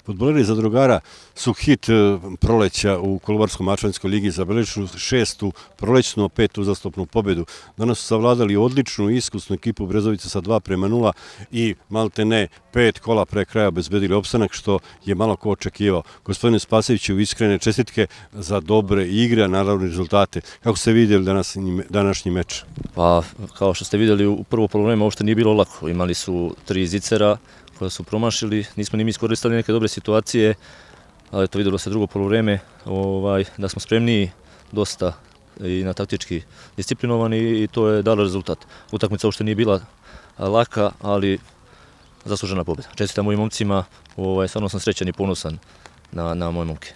Fudbaleri Zadrugara su hit proleća u Kolubarsko-Mačvanskoj ligi, zabeležili 6. prolećnu, 5. uzastopnu pobedu. Danas su savladali odličnu i iskusnu ekipu Brezovice sa 2:0 i maltene 5 kola pre kraja obezbedili opstanak, što je malo ko očekivao. Gospodine Spasojeviću, iskrene čestitke za dobre igre, naravno rezultate. Kako ste vidjeli današnji meč? Pa, kao što ste vidjeli, u prvo polovreme uopšte nije bilo lako. Imali su 3 zicera koja su promašili, nismo ni mi iskoristili neke dobre situacije, ali to vidjelo se drugo polovreme, da smo spremniji dosta i na taktički disciplinovani i to je dalo rezultat. Utakmica uopšte nije bila laka, ali zaslužena pobjeda. Čestitam mojim momcima, stvarno sam srećan i ponosan na moje momke.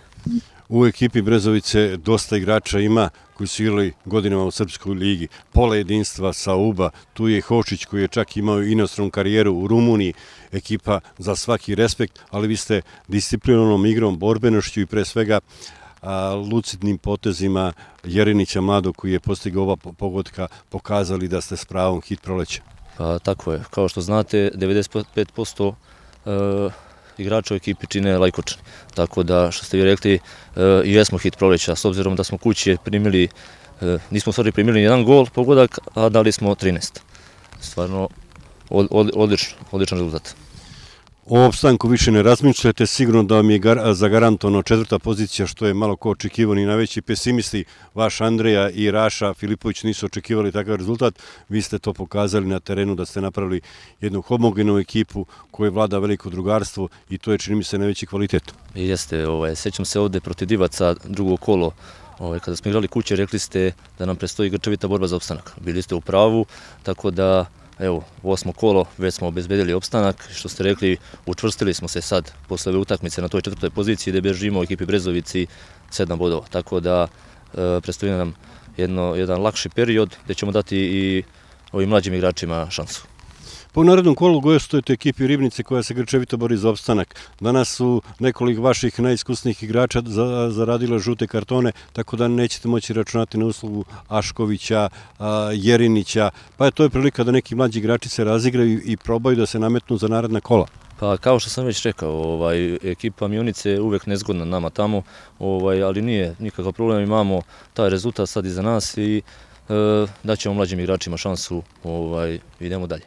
U ekipi Brezovice dosta igrača ima koji su igrali godinama u Srpskoj ligi. Pola jedinstva sa UBA, tu je Hošić koji je čak imao inostranu karijeru u Rumuniji, ekipa za svaki respekt, ali vi ste disciplinovanom igrom, borbenošću i pre svega lucidnim potezima Jerinića mladog koji je postigao ova pogotka pokazali da ste s pravom hit proleća. Pa tako je, kao što znate, 95% igrača u ekipi čine Lajkočani. Tako da, što ste vi rekli, i jesmo hit proleća, s obzirom da smo kući primili, nismo u stvari primili jedan gol pogodak, a dali smo 13. Stvarno, odličan rezultat. O opstanku više ne razmišljate, sigurno da vam je zagarantovano 4. pozicija, što je malo ko očekivani. Najveći pesimisti, vaš Andreja i Raša Filipović, nisu očekivali takav rezultat. Vi ste to pokazali na terenu da ste napravili jednu homogenu ekipu koja vlada veliko drugarstvo i to je, čini mi se, najveći kvalitet. Jeste, sećam se ovde protiv Divaca, drugo kolo, kada smo igrali kuće, rekli ste da nam predstoji grčevita borba za opstanak. Bili ste u pravu, tako da evo, 8. kolo, već smo obezbedili opstanak, što ste rekli, učvrstili smo se sad posle ove utakmice na toj 4. poziciji gde bežimo u ekipi Brezovici 7 bodova, tako da predstavlja nam jedan lakši period gde ćemo dati i ovim mlađim igračima šansu. Po narednom kolu gostujete ekipi Ribnice koja se grčevito bori za opstanak. Danas su nekoliko vaših najiskusnijih igrača zaradilo žute kartone, tako da nećete moći računati na uslugu Aškovića, Jerinića, pa je to prilika da neki mlađi igrači se razigraju i probaju da se nametnu za naredna kola. Pa kao što sam već rekao, ekipa Mionice je uvek nezgodna nama tamo, ali nije nikakav problem, imamo taj rezultat sad iza nas i daćemo mlađim igračima šansu, idemo dalje.